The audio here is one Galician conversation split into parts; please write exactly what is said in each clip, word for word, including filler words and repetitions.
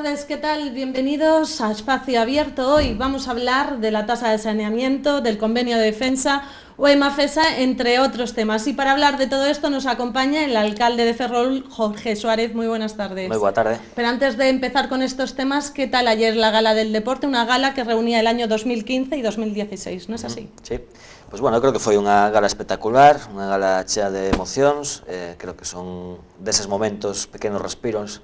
tardes, ¿qué tal? Bienvenidos a Espacio Abierto. Hoy vamos a hablar de la tasa de saneamiento, del convenio de defensa o EMAFESA, entre otros temas. Y para hablar de todo esto nos acompaña el alcalde de Ferrol, Jorge Suárez. Muy buenas tardes. Muy buena tarde. Pero antes de empezar con estos temas, ¿qué tal ayer la Gala del Deporte? Una gala que reunía el año dos mil quince y dos mil dieciséis, ¿no es así? Sí, pois bueno, creo que foi unha gala espectacular, unha gala chea de emocións, eh, creo que son deses momentos, pequenos respiros,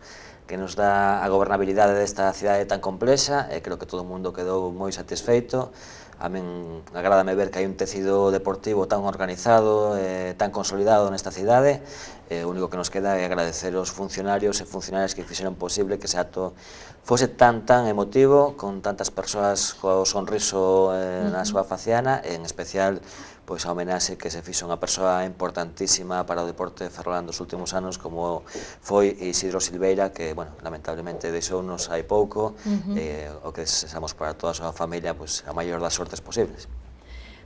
que nos dá a gobernabilidade desta cidade tan complexa, e creo que todo o mundo quedou moi satisfeito. A min agrádame ver que hai un tecido deportivo tan organizado, eh, tan consolidado nesta cidade. Eh, o único que nos queda é agradecer aos funcionarios e funcionarias que fixeron posible que ese acto fose tan tan emotivo, con tantas persoas co sonriso eh, na súa faciana, e en especial pois a homenaxe que se fixo unha persoa importantísima para o deporte de Ferrol dos últimos anos, como foi Isidro Silveira, que, bueno, lamentablemente deixounos hai pouco, uh-huh. eh, o que desexamos para toda a súa familia, pois, a maior das sortes posibles.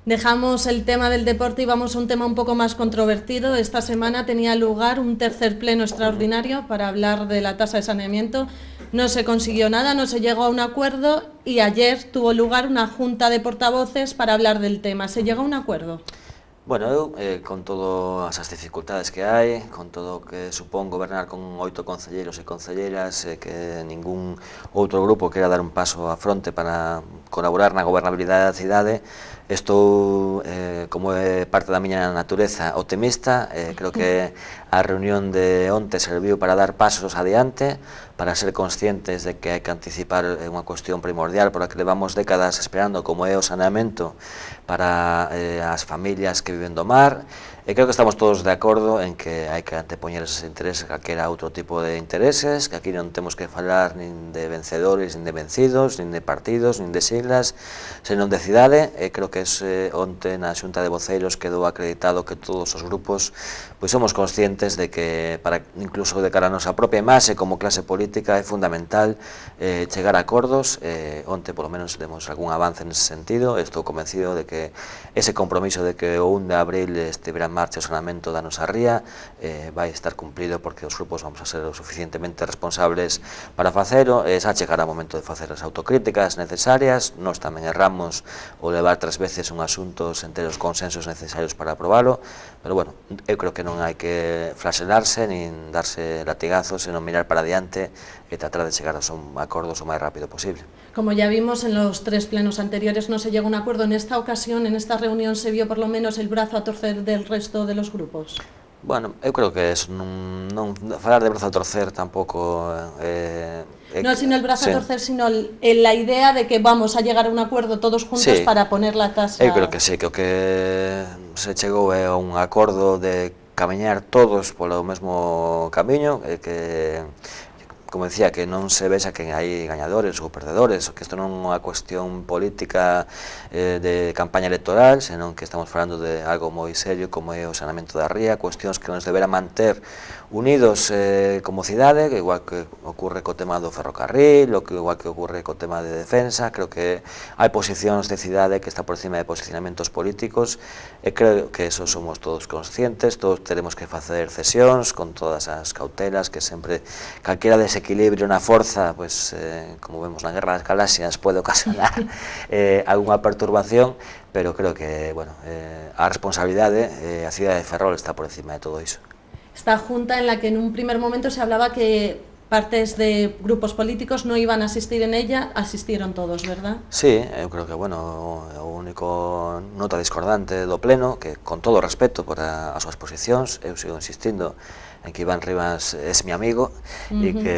Dejamos el tema del deporte y vamos a un tema un poco más controvertido. Esta semana tenía lugar un tercer pleno extraordinario para hablar de la tasa de saneamiento. No se consiguió nada, no se llegó a un acuerdo y ayer tuvo lugar una junta de portavoces para hablar del tema. ¿Se llegó a un acuerdo? Bueno, eu, eh, con todas as dificultades que hai, con todo o que supón gobernar con oito concelleiros e concelleiras, eh, que ningún outro grupo quera dar un paso á fronte para colaborar na gobernabilidade da cidade, estou, eh, como é parte da miña natureza, optimista. Eh, creo que a reunión de onte serviu para dar pasos adiante, para ser conscientes de que hai que anticipar unha cuestión primordial por a que levamos décadas esperando, como é o saneamento para eh, as familias que viven do mar. E creo que estamos todos de acordo en que hai que antepoñer eses intereses a calquera outro tipo de intereses, que aquí non temos que falar nin de vencedores, nin de vencidos, nin de partidos, nin de siglas, senón de cidade. E creo que ese, onte na xunta de voceiros quedou acreditado que todos os grupos pois somos conscientes de que, para incluso de cara a nosa propia imaxe como clase política, é fundamental eh, chegar a acordos. Eh, onte, polo menos, demos algún avance nese sentido. Estou convencido de que ese compromiso de que o un de abril estiverá marcha o saneamento da nosa ría eh, vai estar cumprido, porque os grupos vamos a ser o suficientemente responsables para facelo. E xa chegará o momento de facer as autocríticas necesarias. Nós tamén erramos o levar tres veces un asunto sen ter os consensos necesarios para aprobalo, pero bueno, eu creo que non hai que flagelarse nin darse latigazos, senón mirar para diante e tratar de chegar aos acordos o máis rápido posible. Como ya vimos en los tres plenos anteriores, no se llegó a un acuerdo. En esta ocasión, en esta reunión, se vio por lo menos el brazo a torcer del resto de los grupos. Bueno, eu creo que eso, non, non falar de brazo a torcer tampouco eh, eh, no, sino el brazo sí. a torcer, sino el, la idea de que vamos a llegar a un acuerdo todos juntos sí. para poner la tasa. Eu creo que sí, que o que se chegou é un acordo de camiñar todos polo mesmo camiño, e que, como decía, que non se vexa que hai gañadores ou perdedores, que isto non é unha cuestión política eh, de campaña electoral, senón que estamos falando de algo moi serio como é o saneamento da ría, cuestións que nos deberá manter unidos eh, como cidade, que igual que ocurre co tema do ferrocarril, o que igual que ocurre co tema de defensa. Creo que hai posicións de cidade que está por cima de posicionamentos políticos, e creo que eso somos todos conscientes. Todos teremos que facer cesións con todas as cautelas que sempre calquera desequilibrio na forza, pues, eh, como vemos na Guerra das Galaxias, pode ocasionar eh, algunha perturbación, pero creo que, bueno, eh, a responsabilidade, eh, a cidade de Ferrol está por encima de todo iso. Esta junta en la que en un primer momento se hablaba que partes de grupos políticos no iban a asistir en ella, asistieron todos, ¿verdad? Sí, eu creo que, bueno, o único nota discordante do pleno, que con todo o respeto por a, as súas posicións, eu sigo insistindo en que Iván Rivas é mi amigo, uh-huh. e que,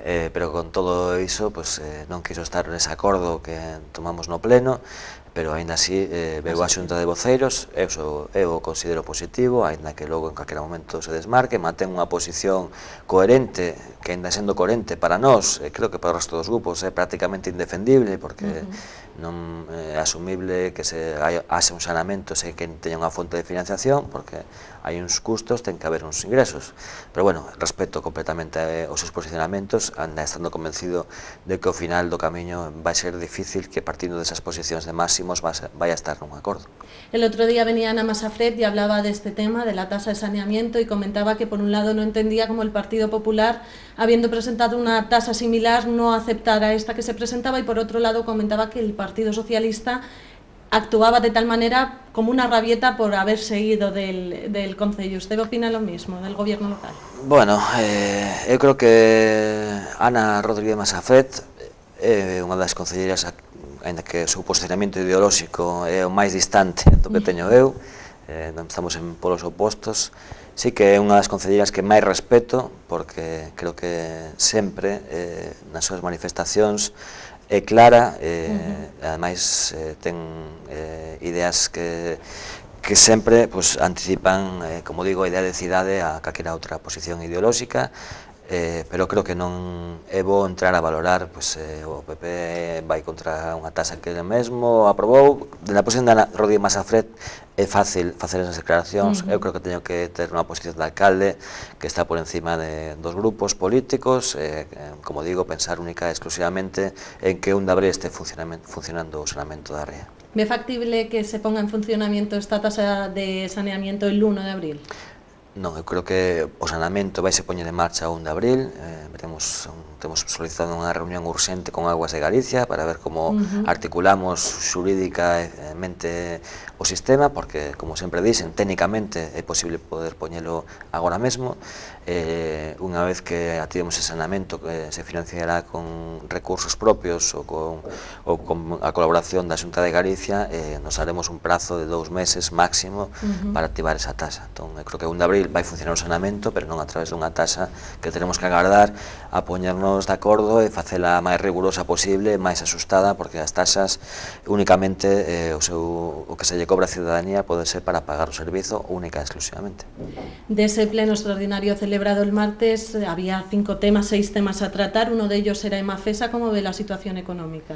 eh, pero con todo iso, pues, eh, non quiso estar nese acordo que tomamos no pleno, pero aínda así eh, veo a xunta de voceiros. Eu, so, eu o considero positivo, aínda que logo en calquera momento se desmarque, mantén unha posición coherente, que aínda sendo coherente para nós, eh, creo que para o resto dos grupos é prácticamente indefendible, porque uh-huh. non é asumible que se haxe un saneamento se que teña unha fonte de financiación, porque hai uns custos, ten que haber uns ingresos. Pero, bueno, respeto completamente os seus posicionamentos, anda estando convencido de que ao final do camiño vai ser difícil que partindo desas posicións de máximos vai a estar nun acordo. El otro día venía Ana Masafret y hablaba de este tema, de la tasa de saneamiento, y comentaba que por un lado no entendía cómo el Partido Popular, habiendo presentado una tasa similar, no aceptara esta que se presentaba, y por otro lado comentaba que el Partido Socialista actuaba de tal manera como una rabieta por haberse ido del, del Concello. ¿Usted opina lo mismo del gobierno local? Bueno, eh, eu creo que Ana Rodríguez Masafret é unha das concelleiras, ainda que o seu posicionamento ideolóxico é o máis distante do que teño eu, eh, estamos en polos opostos. Sí que é unha das concelleiras que máis respeto, porque creo que sempre eh, nas súas manifestacións é clara, eh, uh-huh. ademais eh, ten eh, ideas que, que sempre pues, anticipan, eh, como digo, a idea de cidade a calquera outra posición ideolóxica, eh, pero creo que non é bo entrar a valorar, pues, eh, o P P vai contra unha tasa que ele mesmo aprobou. Na posición de Ana Rodríguez Masafret é fácil facer esas declaracións, uh-huh. eu creo que teño que ter unha posición de alcalde que está por encima de, dos grupos políticos, eh, como digo, pensar única e exclusivamente en que un de abril este funcionando o saneamento da ría. ¿Ve factible que se ponga en funcionamiento esta tasa de saneamiento el uno de abril? Non, eu creo que o saneamento vai se poñer en marcha o un de abril, eh, veremos, temos solicitado unha reunión urxente con Aguas de Galicia para ver como uh-huh. articulamos xurídicamente o sistema, porque, como sempre dicen, técnicamente é posible poder poñelo agora mesmo. Eh, unha vez que ativemos ese saneamento, que se financiará con recursos propios ou con, ou con a colaboración da Xunta de Galicia, eh, nos haremos un prazo de dous meses máximo uh-huh. para activar esa tasa. Entón, eu creo que o un de abril vai funcionar o saneamento, pero non a través dunha tasa que tenemos que agardar a poñernos de acordo e facela máis rigurosa posible, máis asustada, porque as tasas únicamente eh, o, seu, o que se lle cobra a ciudadanía pode ser para pagar o servizo única e exclusivamente. De ese pleno extraordinario celebrado el martes había cinco temas, seis temas a tratar, uno de ellos era Emafesa. ¿Cómo ve la situación económica?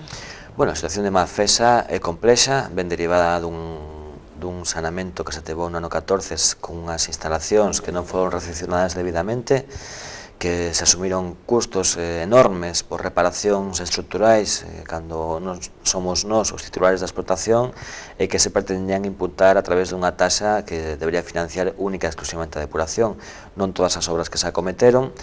Bueno, a situación de Emafesa é complexa, ben derivada dun dun saneamento que se tevou no ano catorce con unhas instalacións que non foron recepcionadas debidamente, que se asumiron custos eh, enormes por reparacións estruturais eh, cando nos somos nós os titulares da explotación, e que se pretendían imputar a través dunha tasa que debería financiar única e exclusivamente a depuración. Non todas as obras que se acometeron.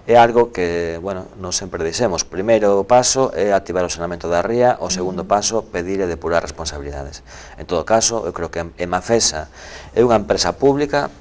É algo que, bueno, non sempre dixemos. O primeiro paso é activar o saneamento da ría, o segundo paso pedir e depurar responsabilidades. En todo caso, eu creo que Emafesa é unha empresa pública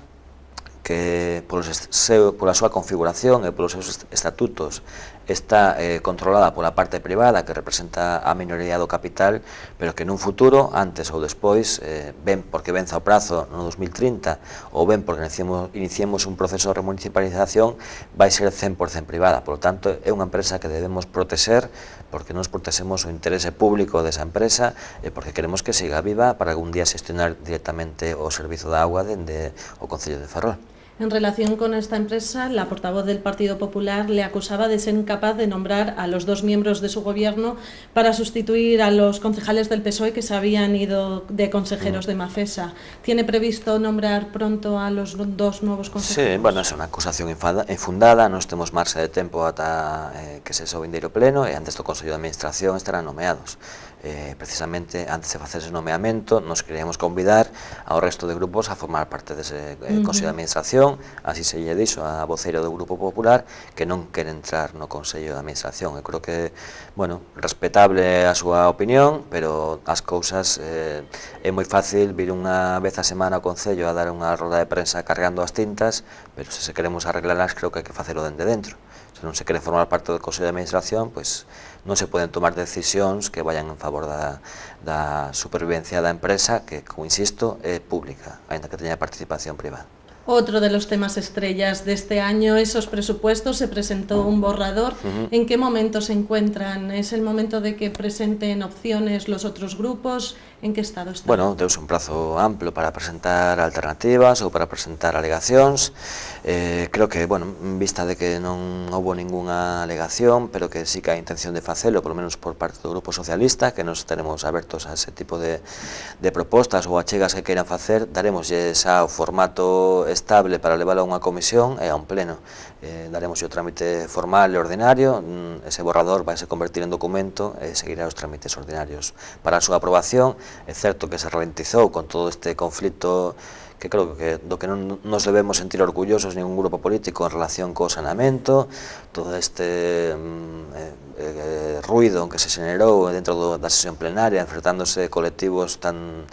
que polos seu, pola súa configuración e polos seus estatutos está eh, controlada pola parte privada, que representa a minoría do capital, pero que nun futuro, antes ou despois, eh, ben porque venza o prazo no dos mil trinta ou ben porque iniciemos, iniciemos un proceso de remunicipalización, vai ser cen por cento privada. Por lo tanto, é unha empresa que debemos proteger, porque nos protexemos o interese público desa empresa e porque queremos que siga viva para algún día xestionar directamente o servizo da agua dende o Concello de Ferrol. En relación con esta empresa, la portavoz del Partido Popular le acusaba de ser incapaz de nombrar a los dos miembros de su gobierno para sustituir a los concejales del P S O E que se habían ido de consejeros de Emafesa. ¿Tiene previsto nombrar pronto a los dos nuevos consejeros? Sí, bueno, é unha acusación infundada, nos temos marxa de tempo ata eh, que se so vindeiro pleno, e antes do Consello de Administración estarán nomeados. Eh, precisamente antes de facer ese nomeamento nos queríamos convidar ao resto de grupos a formar parte dese eh, uh-huh. Consello de Administración. Así se lle dixo a voceira do Grupo Popular que non quere entrar no Consello de Administración. Eu creo que, bueno, respetable a súa opinión, pero as cousas eh, é moi fácil vir unha vez a semana ao Concello a dar unha roda de prensa cargando as tintas, pero se se queremos arreglarlas creo que hai que facelo dende dentro. Se non se quere formar parte do Consello de Administración, pois non se poden tomar decisións que vayan en favor da, da supervivencia da empresa, que, como insisto, é pública, aínda que teña participación privada. Otro de los temas estrellas de este año, esos presupuestos, se presentó un borrador. Uh-huh. ¿En qué momento se encuentran? ¿Es el momento de que presenten opciones los otros grupos? ¿En qué estado está? Bueno, deus un prazo amplo para presentar alternativas ou para presentar alegacións. Eh, creo que, bueno, en vista de que non houbo ningunha alegación, pero que sí que hai intención de facelo, por lo menos por parte do Grupo Socialista, que nos estaremos abertos a ese tipo de, de propostas ou achegas que queiran facer, daremoslle xa o formato estable para leválo a unha comisión e a un pleno. Eh, daremos o trámite formal e ordinario, ese borrador vai se convertir en documento e seguirá os trámites ordinarios para a súa aprobación. É certo que se ralentizou con todo este conflito que creo que do que non nos debemos sentir orgullosos ningún grupo político en relación co saneamento, todo este eh, eh, ruido que se generou dentro do, da sesión plenaria, enfrentándose colectivos tan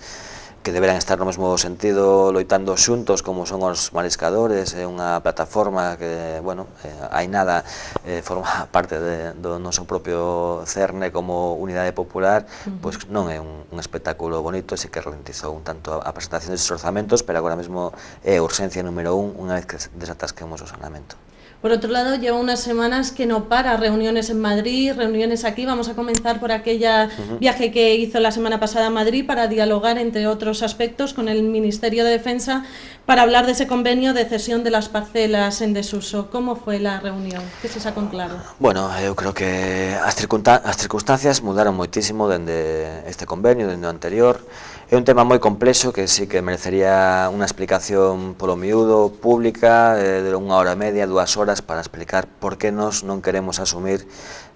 que deberán estar no mesmo sentido loitando xuntos como son os mariscadores, é unha plataforma que, bueno, eh, hai nada, eh, forma parte de, do noso propio cerne como unidade popular, uh-huh. pois non é un, un espectáculo bonito, e sí que ralentizou un tanto a presentación destes orzamentos, pero agora mesmo é urxencia número un unha vez que desatasquemos o saneamento. Por otro lado, lleva unas semanas que no para, reuniones en Madrid, reuniones aquí. Vamos a comenzar por aquella uh-huh. viaje que hizo la semana pasada a Madrid para dialogar, entre otros aspectos, con el Ministerio de Defensa para hablar de ese convenio de cesión de las parcelas en desuso. ¿Cómo fue la reunión? ¿Qué se sacó en claro? Bueno, eu creo que as, as circunstancias mudaron moitísimo dende este convenio, dende o anterior. É un tema moi complexo que sí que merecería unha explicación polo miúdo, pública, eh, de unha hora e media, dúas horas, para explicar por que nos non queremos asumir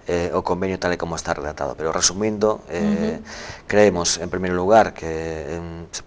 eh, o convenio tal e como está redactado. Pero resumindo, eh, uh-huh. creemos, en primeiro lugar, que eh,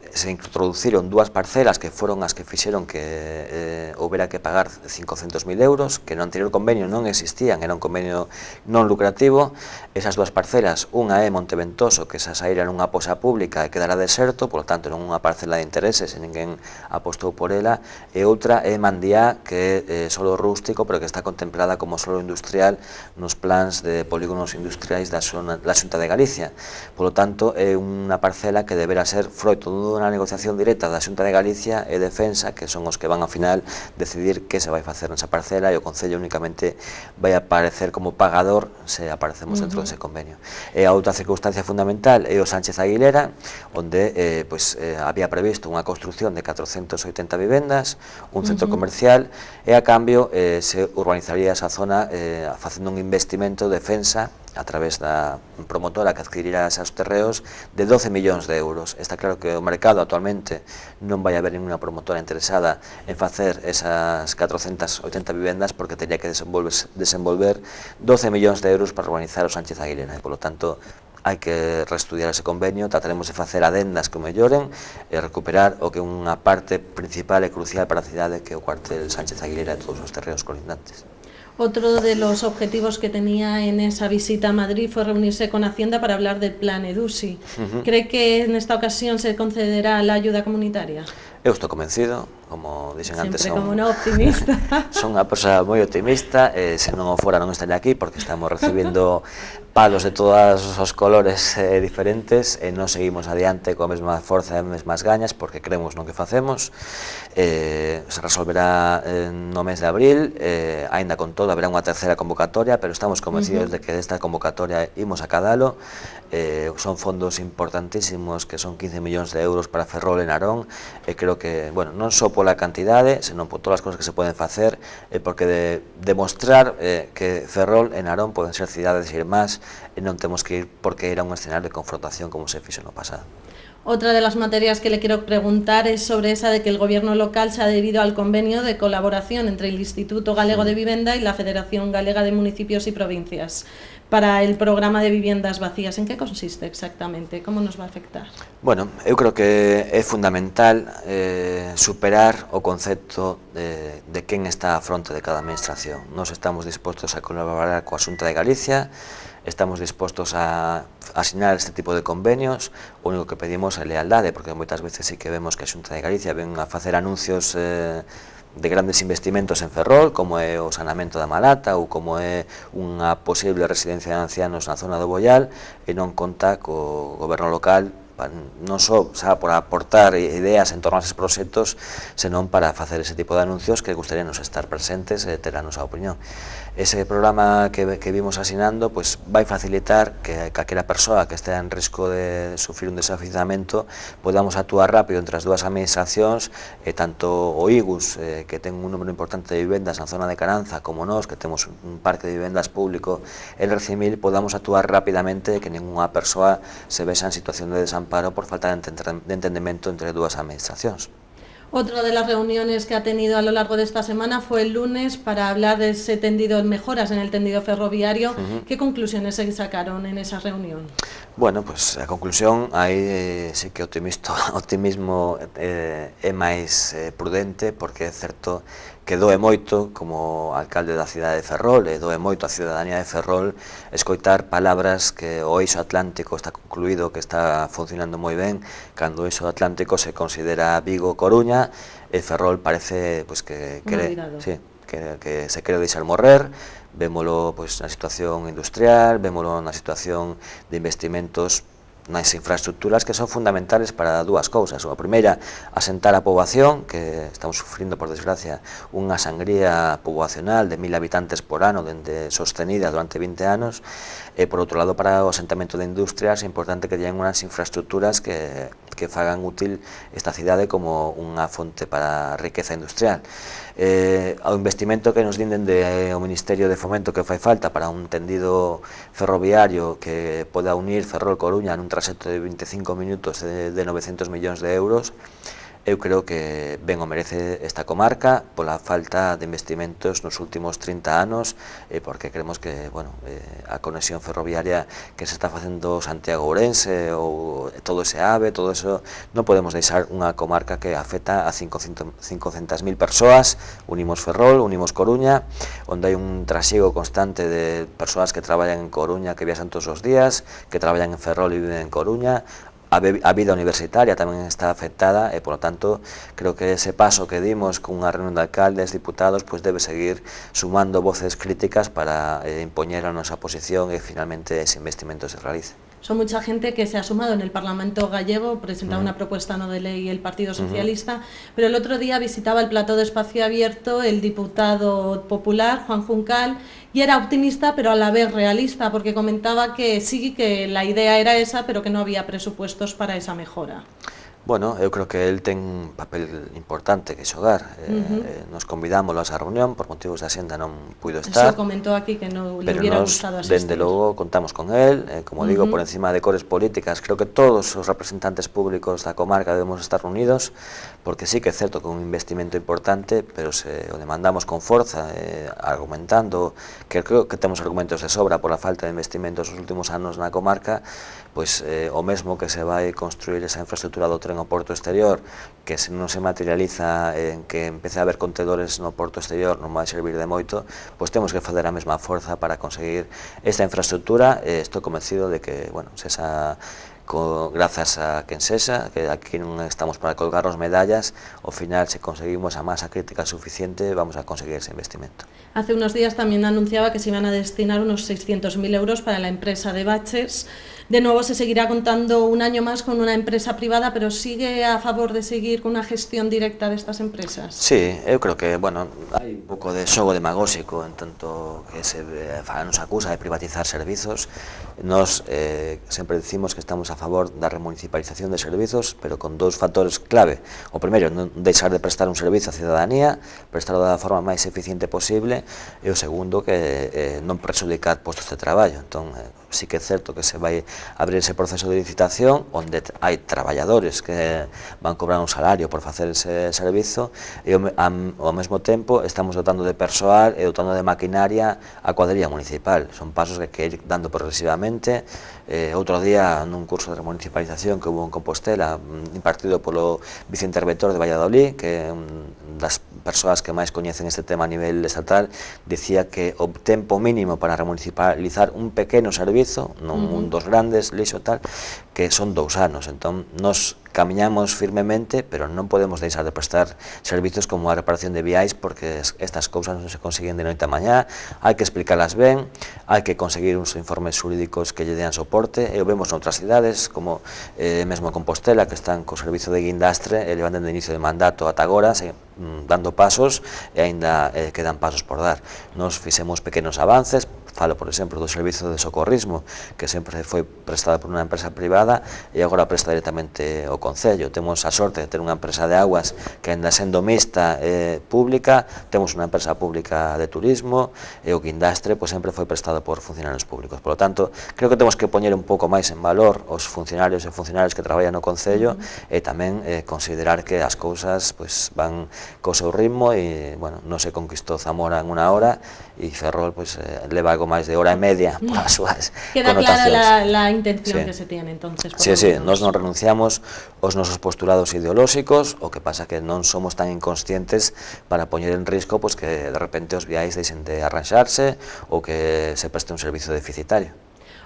se introduciron dúas parcelas que foron as que fixeron que eh, houbera que pagar cincocentos mil euros, que no anterior convenio non existían, era un convenio non lucrativo. Esas dúas parcelas, unha é Monteventoso, que esa saíra nunha posa pública e quedará deserto, polo tanto non unha parcela de intereses e ninguén apostou por ela, e outra é Mandiá, que é eh, solo rústico, pero que está contemplada como solo industrial nos plans de polígonos industriais da Xunta de Galicia. Polo tanto, é unha parcela que deberá ser froito dunha negociación directa da Xunta de Galicia e Defensa, que son os que van ao final decidir que se vai facer nesa parcela, e o Concello únicamente vai aparecer como pagador se aparecemos uh-huh. dentro dese convenio. E a outra circunstancia fundamental é o Sánchez Aguilera, onde eh, pues, eh, había previsto unha construción de catrocentas oitenta vivendas, un centro uh-huh. comercial, e a cambio eh, se urbanizaría esa zona eh, facendo un investimento de Defensa a través da promotora que adquirirá esos terreos de doce millóns de euros. Está claro que o mercado actualmente non vai haber ninguna promotora interesada en facer esas catrocentas oitenta vivendas, porque teria que desenvolver, desenvolver doce millóns de euros para urbanizar o Sánchez Aguilera, e polo tanto hai que reestudiar ese convenio, trataremos de facer adendas que o melloren e recuperar o que é unha parte principal e crucial para a cidade, que é o cuartel Sánchez Aguilera e todos os terreos colindantes. Otro de los objetivos que tenía en esa visita a Madrid fue reunirse con Hacienda para hablar del plan EDUSI. Uh-huh. ¿Cree que en esta ocasión se concederá la ayuda comunitaria? Eu estou convencido, como dixen antes, son, como unha optimista. Son unha persoa moi optimista, e se non o fora non estaría aquí, porque estamos recibindo palos de todos os colores eh, diferentes, e non seguimos adiante coa mesma forza e mesmas gañas, porque creemos no que facemos. Eh, se resolverá eh, no mes de abril, eh, aínda con todo haberá unha terceira convocatoria, pero estamos convencidos uh-huh. de que desta convocatoria imos a cadalo. Eh, son fondos importantísimos, que son quince millóns de euros para Ferrol e Narón, e creo que, bueno, non só pola cantidade, senón por todas as cosas que se poden facer, e porque de demostrar eh, que Ferrol e Narón poden ser cidades irmás, e non temos que ir porque era un escenario de confrontación como se fixo no pasado. Otra de las materias que le quiero preguntar es sobre esa de que el gobierno local se ha adherido al convenio de colaboración entre el Instituto Galego de Vivienda y la Federación Galega de Municipios y Provincias para el programa de viviendas vacías. ¿En qué consiste exactamente? ¿Cómo nos va a afectar? Bueno, eu creo que é fundamental eh, superar o concepto de, de quen está á fronte de cada administración. Nos estamos dispostos a colaborar coa Xunta de Galicia, estamos dispostos a asinar este tipo de convenios. O único que pedimos é lealdade, porque moitas veces sí que vemos que a Xunta de Galicia ven a facer anuncios eh, de grandes investimentos en Ferrol, como é o saneamento da Malata ou como é unha posible residencia de ancianos na zona do Boial, e non conta co goberno local, non só xa por aportar ideas en torno a eses proxectos, senón para facer ese tipo de anuncios que gustaríanos estar presentes e ter a nosa opinión. Ese programa que, que vimos asinando pues, vai facilitar que calquera persoa que estea en risco de sufrir un desafiuzamento podamos actuar rápido entre as dúas administracións, e tanto o I G U S, eh, que ten un número importante de vivendas na zona de Caranza, como nós, que temos un parque de vivendas público en Recimil, podamos actuar rapidamente e que ninguna persoa se vexa en situación de desamparo por falta de entendemento entre dúas administracións. Otra de las reuniones que ha tenido a lo largo de esta semana fue el lunes para hablar de ese tendido, mejoras en el tendido ferroviario. Uh-huh. ¿Qué conclusiones se sacaron en esa reunión? Bueno, pues a conclusión, aí eh, sí que o optimismo eh, é máis eh, prudente, porque é certo que doe moito, como alcalde da cidade de Ferrol, e doe moito a cidadanía de Ferrol escoitar palabras que o eixo atlántico está concluído, que está funcionando moi ben, cando o eixo atlántico se considera Vigo-Coruña, e Ferrol parece pues, que, que, sí, que, que se quere deixar morrer. Vémolo pois, na situación industrial, vémolo na situación de investimentos nas infraestructuras que son fundamentales para dúas cousas. A primeira, asentar a poboación, que estamos sufrindo, por desgracia, unha sangría poboacional de mil habitantes por ano, dende sostenida durante vinte anos, e por outro lado, para o asentamento de industrias é importante que teñan unhas infraestructuras que, que fagan útil esta cidade como unha fonte para a riqueza industrial. Eh, ao investimento que nos din dende eh, o Ministerio de Fomento que fai falta para un tendido ferroviario que poda unir Ferrol-Coruña nun traxecto de vinte e cinco minutos de, de novecentos millóns de euros, eu creo que ben o merece esta comarca pola falta de investimentos nos últimos trinta anos, eh, porque creemos que bueno, eh, a conexión ferroviaria que se está facendo Santiago-Ourense ou todo ese AVE, todo eso, non podemos deixar unha comarca que afecta a cincocentas mil persoas. Unimos Ferrol, unimos Coruña, onde hai un trasiego constante de persoas que traballan en Coruña, que viaxan todos os días, que traballan en Ferrol e viven en Coruña. A vida universitaria tamén está afectada e, por lo tanto, creo que ese paso que dimos con unha reunión de alcaldes, diputados, pues debe seguir sumando voces críticas para eh, impoñer a nosa posición e finalmente ese investimento se realice. Son mucha gente que se ha sumado en el Parlamento gallego, presentaba uh-huh. una propuesta no de ley el Partido Socialista, uh-huh. pero el otro día visitaba el plató de Espacio Abierto el diputado popular, Juan Juncal, y era optimista pero a la vez realista, porque comentaba que sí, que la idea era esa, pero que no había presupuestos para esa mejora. Bueno, eu creo que el ten un papel importante que xogar. Eh, uh-huh. eh, nos convidámoslo a esa reunión, por motivos de axenda non puido estar. Eso comentó aquí que no le hubiera gustado asistir. Pero nos, dende logo, contamos con él, eh, como uh-huh. digo, por encima de cores políticas. Creo que todos os representantes públicos da comarca debemos estar unidos, porque sí que é certo que é un investimento importante, pero se o demandamos con forza, eh, argumentando, que creo que temos argumentos de sobra por a falta de investimentos nos últimos anos na comarca, pois eh, o mesmo que se vai construir esa infraestructura do tren ao porto exterior, que se non se materializa en que empece a haber contedores no porto exterior, non vai servir de moito, pois temos que fazer a mesma forza para conseguir esta infraestructura. E estou convencido de que, bueno, se esa Co, grazas a quen sexa, que aquí non estamos para colgarnos medallas, ao final, se conseguimos a masa crítica suficiente, vamos a conseguir ese investimento. Hace unos días también anunciaba que se iban a destinar unos seiscientos mil euros para la empresa de baches. De nuevo se seguirá contando un año más con una empresa privada, pero ¿sigue a favor de seguir con una gestión directa de estas empresas? Sí, eu creo que, bueno, hai un pouco de xogo demagóxico en tanto que se nos acusa de privatizar servizos. Nos eh, sempre decimos que estamos a favor da remunicipalización de servizos, pero con dous factores clave. O primeiro, non deixar de prestar un servizo á cidadanía, prestarlo da forma máis eficiente posible, e o segundo, que eh, non prexudicar postos de traballo. Entón, eh, sí que é certo que se vai abrir ese proceso de licitación onde hai traballadores que van cobrar un salario por facer ese servizo, e ao mesmo tempo estamos dotando de persoal e dotando de maquinaria a cuadrilla municipal. Son pasos que hai que ir dando progresivamente. Eh, outro día, nun curso de municipalización que hubo en Compostela, impartido polo viceinterventor de Valladolid, que é un das persoas que máis coñecen este tema a nivel estatal, dicía que o tempo mínimo para remunicipalizar un pequeno servizo, non uh-huh. un dos grandes, lixo tal, que son dous anos. Entón, nos camiñamos firmemente, pero non podemos deixar de prestar servizos como a reparación de viais, porque estas cousas non se consiguen de noite a mañá, hai que explicarlas ben, hai que conseguir uns informes xurídicos que lle dean soporte, e o vemos noutras cidades, como eh, mesmo Compostela, que están co servizo de guindastre, e levan dende inicio de mandato ata agora, se, mm, dando pasos, e aínda eh, quedan pasos por dar. Nos fixemos pequenos avances, falo, por exemplo, do servizo de socorrismo, que sempre foi prestado por unha empresa privada e agora presta directamente o Concello. Temos a sorte de ter unha empresa de aguas que ainda sendo mixta e pública, temos unha empresa pública de turismo e o guindastre pois, sempre foi prestado por funcionarios públicos. Por lo tanto, creo que temos que poñer un pouco máis en valor os funcionarios e funcionarias que traballan no Concello uh-huh. e tamén eh, considerar que as cousas pois, van co seu ritmo e, bueno, non se conquistou Zamora en unha hora e Ferrol pois, eh, leva algo máis de hora e media por as súas Queda connotacións. clara la, la intención sí. que se tiene, entonces. Sí, sí, nós non renunciamos aos nosos postulados ideolóxicos, o que pasa que non somos tan inconscientes para poñer en risco pois, que de repente os viais deixen de arranxarse ou que se preste un servizo deficitario.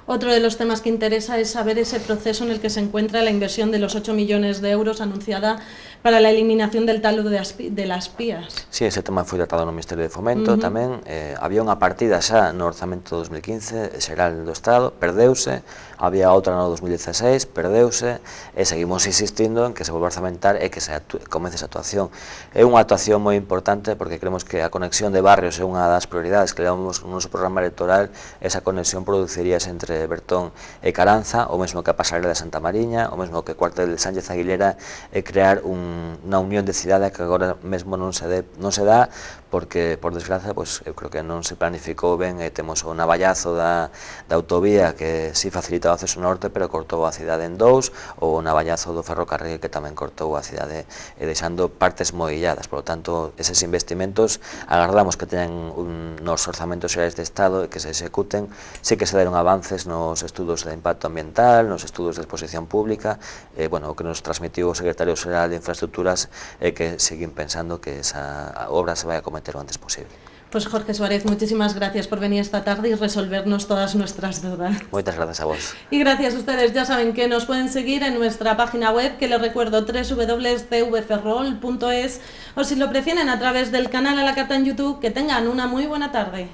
Otro de los temas que interesa es saber ese proceso en el que se encuentra la inversión de los ocho millones de euros anunciada para la eliminación del talud de, de las pías. Sí, ese tema foi tratado no Ministerio de Fomento uh-huh. tamén. Eh, había unha partida xa no orzamento dos mil quince, xeral do Estado, perdeuse, había outra no dos mil dieciséis, perdeuse, e seguimos insistindo en que se volva a orzamentar e que se comece esa actuación. É unha actuación moi importante porque creemos que a conexión de barrios é unha das prioridades que levamos no noso programa electoral. Esa conexión produciríase entre Bertón e Caranza, o mesmo que a pasarela de Santa Mariña, o mesmo que o cuartel de Sánchez Aguilera, e crear un, unha unión de cidade que agora mesmo non se, de, non se dá porque, por desgracia, pues, eu creo que non se planificou ben e temos o navallazo da, da autovía que si facilita o acceso norte, pero cortou a cidade en dous, ou o navallazo do ferrocarril que tamén cortou a cidade e deixando partes moi illadas. Por lo tanto, eses investimentos agardamos que teñan un, nos orzamentos xerais de Estado e que se executen. Sí que se deron avances nos estudos de impacto ambiental, nos estudos de exposición pública, e, bueno, o que nos transmitiu o secretario xeral de Infraestructuras é que seguín pensando que esa obra se vai a cometer lo antes posible. Pues Jorge Suárez, muchísimas gracias por venir esta tarde y resolvernos todas nuestras dudas. Muchas gracias a vos. Y gracias a ustedes, ya saben que nos pueden seguir en nuestra página web, que les recuerdo, doble u doble u doble u punto c v ferrol punto es, o si lo prefieren a través del canal A la Carta en YouTube. Que tengan una muy buena tarde.